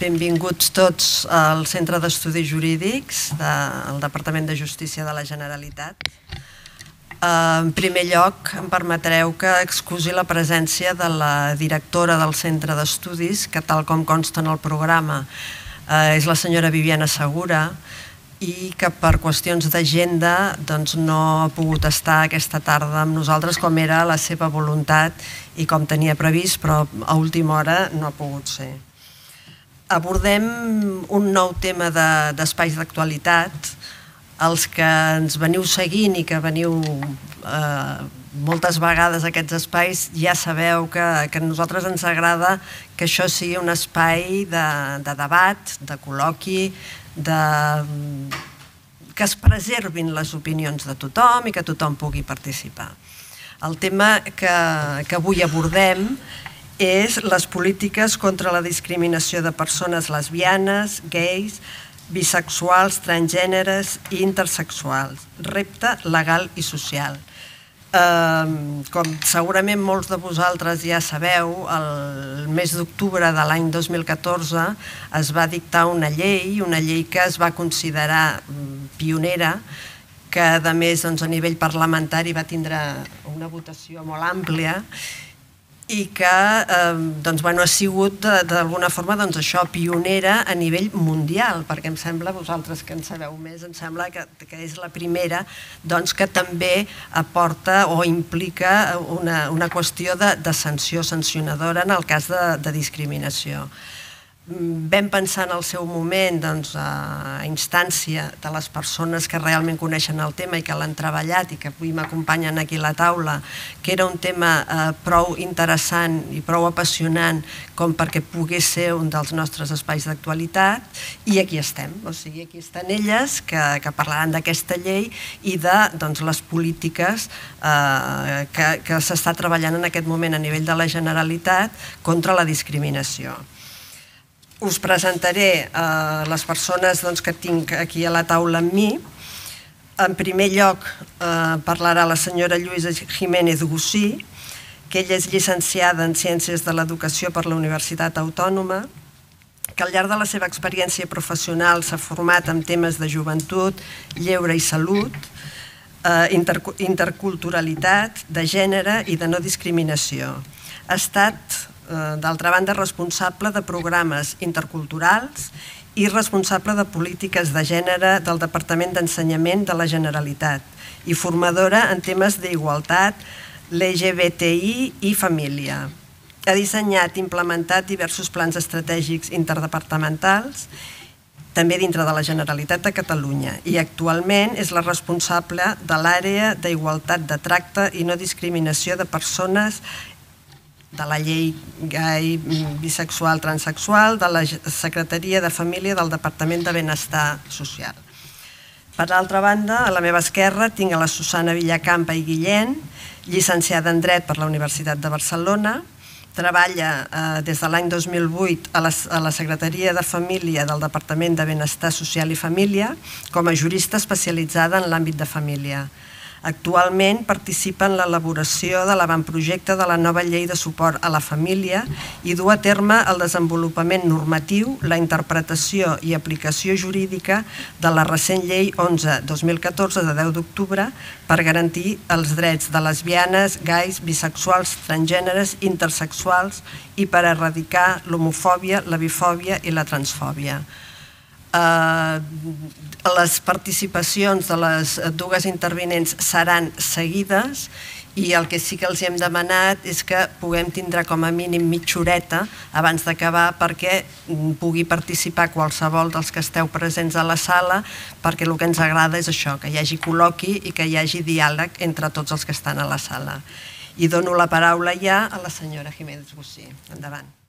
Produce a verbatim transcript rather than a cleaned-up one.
benvinguts tots al Centre d'Estudis Jurídics del Departament de Justícia de la Generalitat. En primer lloc, em permetreu que excusi la presència de la directora del Centre d'Estudis, que tal com consta en el programa és la senyora Viviana Segura, i que per qüestions d'agenda no ha pogut estar aquesta tarda amb nosaltres com era la seva voluntat i com tenia previst, però a última hora no ha pogut ser. Abordem un nou tema d'espais d'actualitat. Els que ens veniu seguint i que veniu moltes vegades a aquests espais ja sabeu que a nosaltres ens agrada que això sigui un espai de debat, de col·loqui, que es preservin les opinions de tothom i que tothom pugui participar. El tema que avui abordem és les polítiques contra la discriminació de persones lesbianes, gais, bisexuals, transgèneres i intersexuals. Repte legal i social. Com segurament molts de vosaltres ja sabeu, el mes d'octubre de l'any dos mil catorze es va dictar una llei, una llei que es va considerar pionera, que a més a nivell parlamentari va tindre una votació molt àmplia i que ha sigut d'alguna forma pionera a nivell mundial, perquè em sembla, vosaltres que en sabeu més, em sembla que és la primera que també aporta o implica una qüestió de sanció sancionadora en el cas de discriminació. Vam pensar en el seu moment, a instància de les persones que realment coneixen el tema i que l'han treballat i que avui m'acompanyen aquí a la taula, que era un tema prou interessant i prou apassionant com perquè pogués ser un dels nostres espais d'actualitat, i aquí estem. O sigui, aquí estan elles que parlaran d'aquesta llei i de les polítiques que s'està treballant en aquest moment a nivell de la Generalitat contra la discriminació. Us presentaré les persones que tinc aquí a la taula amb mi. En primer lloc parlarà la senyora Lluïsa Jiménez Gusí, que ella és llicenciada en Ciències de l'Educació per la Universitat Autònoma, que al llarg de la seva experiència professional s'ha format en temes de joventut, lleure i salut, interculturalitat, de gènere i de no discriminació. Ha estat d'altra banda, responsable de programes interculturals i responsable de polítiques de gènere del Departament d'Ensenyament de la Generalitat i formadora en temes d'igualtat, L G B T I i família. Ha dissenyat i implementat diversos plans estratègics interdepartamentals, també dintre de la Generalitat de Catalunya, i actualment és la responsable de l'àrea d'igualtat de tracte i no discriminació de persones de la llei gai, bisexual, transexual, de la Secretaria de Família del Departament de Benestar Social. Per altra banda, a la meva esquerra tinc a la Susana Villacampa i Guillén, llicenciada en Dret per la Universitat de Barcelona, treballa des de l'any dos mil vuit a la Secretaria de Família del Departament de Benestar Social i Família com a jurista especialitzada en l'àmbit de família. Actualment participa en l'elaboració de l'avantprojecte de la nova llei de suport a la família i du a terme el desenvolupament normatiu, la interpretació i aplicació jurídica de la recent llei onze dos mil catorze de deu d'octubre per garantir els drets de lesbianes, gais, bisexuals, transgèneres, intersexuals i per erradicar l'homofòbia, la bifòbia i la transfòbia. Les participacions de les dues intervinents seran seguides i el que sí que els hem demanat és que puguem tindre com a mínim mitja horeta abans d'acabar perquè pugui participar qualsevol dels que esteu presents a la sala, perquè el que ens agrada és això, que hi hagi col·loqui i que hi hagi diàleg entre tots els que estan a la sala. I dono la paraula ja a la senyora Jiménez Gusí. Endavant.